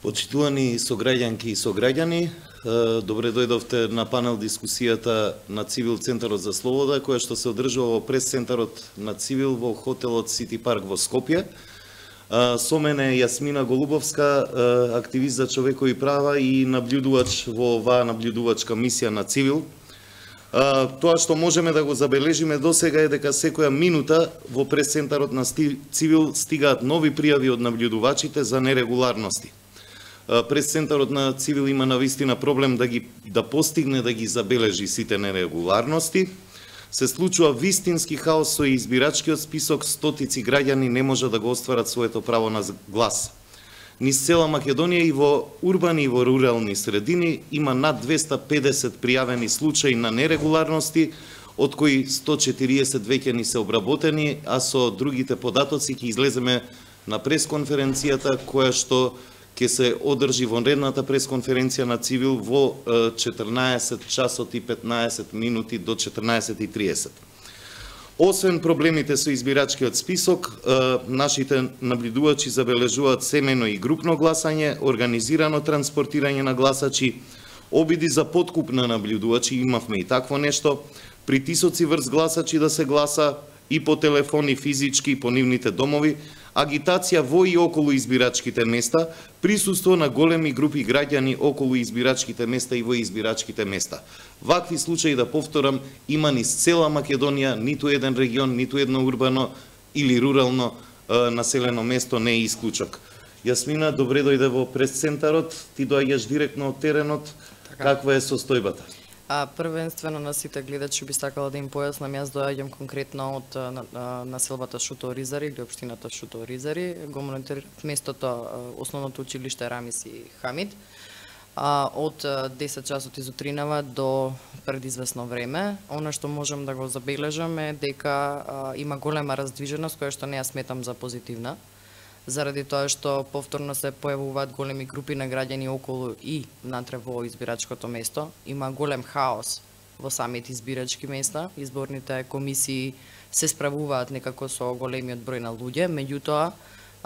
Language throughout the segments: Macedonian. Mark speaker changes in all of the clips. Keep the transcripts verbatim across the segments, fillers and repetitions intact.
Speaker 1: Почитувани сограѓанки и сограѓани, добре дојдовте на панел дискусијата на Цивил Центарот за Слобода, која што се одржува во прес-центарот на Цивил во хотелот Сити Парк во Скопје. Со мене е Јасмина Голубовска, активист за човекови права и наблюдувач во оваа наблюдувачка мисија на Цивил. Тоа што можеме да го забележиме досега е дека секоја минута во прес-центарот на Цивил стигаат нови пријави од наблюдувачите за нерегуларности. Прес-центарот на Цивил има навистина проблем да ги да постигне да ги забележи сите нерегуларности. Се случува вистински хаос со избирачкиот список, стотици граѓани не може да го остварат своето право на глас. Низ цела Македонија и во урбани и во рурални средини има над двесте педесет пријавени случаи на нерегуларности, од кои сто и четириесет веќе ни се обработени, а со другите податоци ќе излеземе на пресконференцијата која што ќе се одржи во редната пресконференција на Цивил во четрнаесет часот и петнаесет минути до четрнаесет и триесет. Освен проблемите со избирачкиот список, нашите наблюдувачи забележуваат семејно и групно гласање, организирано транспортирање на гласачи, обиди за подкуп на наблюдувачи, имавме и такво нешто, притисоци врз гласачи да се гласа и по телефон и физички и по нивните домови, агитација во и околу избирачките места, присуство на големи групи граѓани околу избирачките места и во избирачките места. Вакви случаи, да повторам, има низ цела Македонија, ниту еден регион, ниту едно урбано или рурално е, населено место не е исклучок. Јасмина, добре дојде во прес-центарот, ти доаѓаш директно од теренот, така. Каква е состојбата?
Speaker 2: А првенствено на сите гледачи би сакала да им појаснам, јас доаѓам конкретно од населбата Шуто Оризари или општината Шуто Оризари, го мониторирав местото основното училиште Рамис и Хамид. А, од десет часот изутринава до предизвестно време, она што можам да го забележам е дека а, има голема раздвиженост која што не ја сметам за позитивна, заради тоа што повторно се појавуваат големи групи на граѓани околу и натре во избирачкото место. Има голем хаос во самите избирачки места, изборните комисии се справуваат некако со големиот број на луѓе, меѓутоа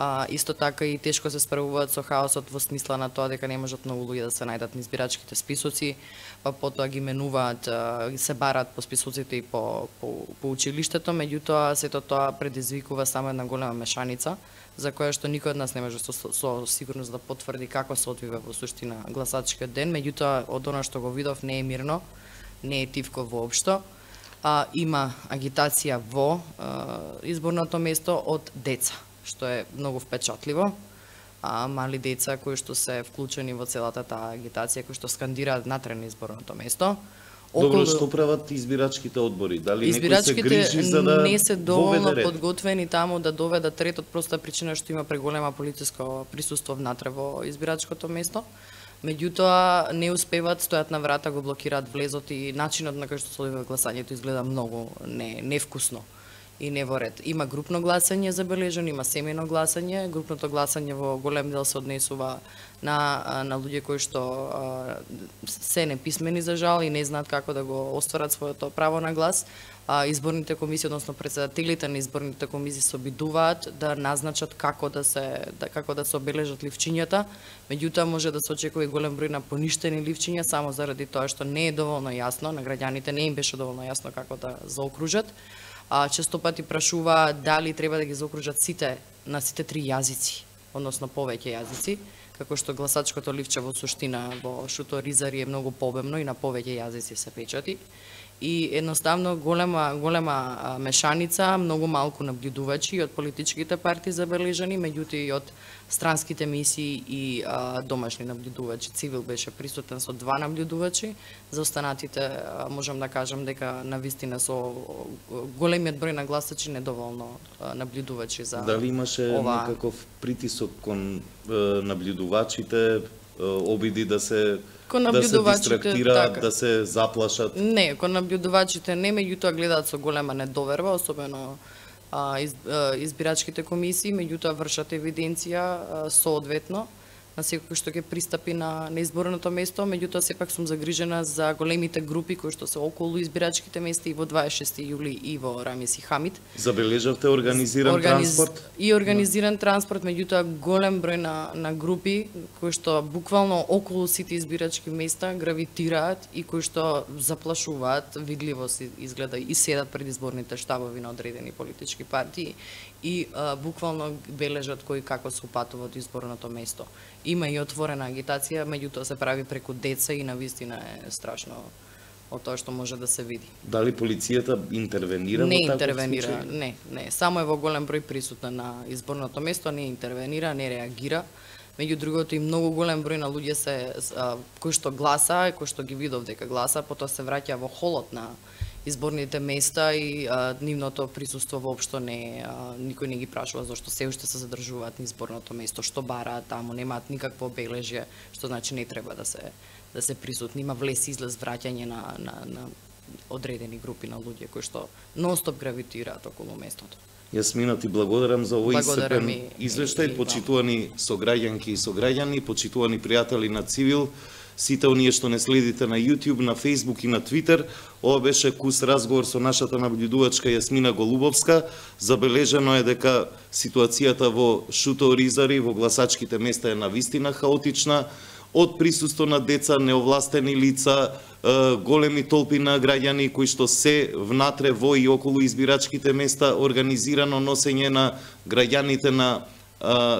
Speaker 2: а, исто така и тешко се справуваат со хаосот во смисла на тоа дека не можат многу луѓе да се најдат на избирачките списоци, па потоа ги менуваат, се барат по списоците и по, по, по училиштето, меѓутоа сето тоа предизвикува само една голема мешаница, за која што никој од нас не може со, со сигурност да потврди како се одвива во суштина гласачкиот ден, меѓутоа од она што го видов не е мирно, не е тивко воопшто. А, има агитација во а, изборното место од деца, што е многу впечатливо. А, мали деца кои што се вклучени во целата таа агитација, кои што скандираат натре на изборното место.
Speaker 1: Добро, што прават избирачките одбори? Дали некој се грижи за да
Speaker 2: не се доволно подготвени таму да доведат ред од проста причина што има преголема полициско присуство внатре во избирачкото место. Меѓутоа не успеваат, стојат на врата, го блокираат влезот и начинот на кој што се одвива гласањето изгледа многу не невкусно и не во ред. Има групно гласање забележано, има семејно гласање. Групното гласање во голем дел се однесува на, на луѓе кои што а, се неписмени за жал и не знаат како да го остварат своето право на глас. А, изборните комисии, односно председателите на изборните комисии се обидуваат да назначат како да се да, како да се обележат ливчињата, меѓутоа може да се очекува и голем број на поништени ливчиња само заради тоа што не е доволно јасно, на граѓаните не им беше доволно јасно како да заокружат. А, често пати прашува дали треба да ги заокружат сите на сите три јазици, односно повеќе јазици, како што гласачкото ливче во суштина во Шуто Оризари е многу побемно и на повеќе јазици се печати. И едноставно голема голема мешаница, многу малку наблюдувачи од политичките партии забележани, меѓутоа и од странските мисии и а, домашни наблюдувачи. Цивил беше присутен со два наблюдувачи, за останатите а, можам да кажам дека навистина со големиот број на гласачи недоволно а, наблюдувачи за
Speaker 1: Дали имаше ова... некаков притисок кон е, наблюдувачите, е, обиди да се да се дистрактираат, така. Да се заплашат?
Speaker 2: Не, кон наблюдувачите не, меѓутоа гледаат со голема недоверба, особено а, из, а, избирачките комисии, меѓутоа вршат евиденција а, соодветно на секој што ќе пристапи на, на изборното место, меѓутоа сепак сум загрижена за големите групи кои што се околу избирачките места и во дваесет и шести јули и во Рамис и Хамид.
Speaker 1: Забележавте организиран Организ... транспорт?
Speaker 2: И организиран да. транспорт, меѓутоа голем број на, на групи кои што буквално околу сите избирачки места гравитираат и кои што заплашуваат, видливо се изгледа и седат пред изборните штабови на одредени политички партии и а, буквално бележат кој како се упатува од изборното место. Има и отворена агитација, меѓутоа се прави преку деца и навистина е страшно од тоа што може да се види.
Speaker 1: Дали полицијата интервенира
Speaker 2: не
Speaker 1: во таков
Speaker 2: интервенира,
Speaker 1: случај?
Speaker 2: Не, не, само е во голем број присутна на изборното место, не интервенира, не реагира. Меѓу другото и многу голем број на луѓе се а, кои што гласа, кои што ги видов дека гласа, потоа се враќа во холот на изборните места и а, нивното присуство воопшто не а, никој не ги прашува зашто се уште се задржуваат на изборното место, што бараат таму, немаат никакво обележје, што значи не треба да се да се присутни, има влез излез враќање на на на одредени групи на луѓе кои што нонстоп гравитираат околу местото.
Speaker 1: Јасмина, ти благодарам за овој
Speaker 2: Благодарам
Speaker 1: исцрпен извештај, почитувани сограѓанки и сограѓани, почитувани пријатели на Цивил, сите оние што не следите на YouTube, на Facebook и на Twitter. Ова беше кус разговор со нашата наблюдувачка Јасмина Голубовска. Забележено е дека ситуацијата во Шуто Оризари, во гласачките места е навистина хаотична, од присуство на деца, неовластени лица, големи толпи на граѓани кои што се внатре во и околу избирачките места, организирано носење на граѓаните на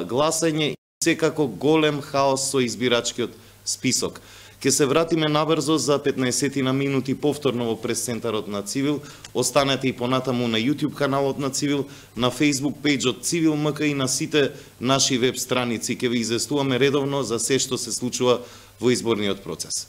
Speaker 1: гласање и секако голем хаос со избирачкиот список. Ке се вратиме набрзо за петнаесет на минути повторно во прес-центарот на Цивил. Останете и понатаму на YouTube каналот на Цивил, на Facebook пејџот Цивил МК и на сите наши веб страници. Ке ви известуваме редовно за се што се случува во изборниот процес.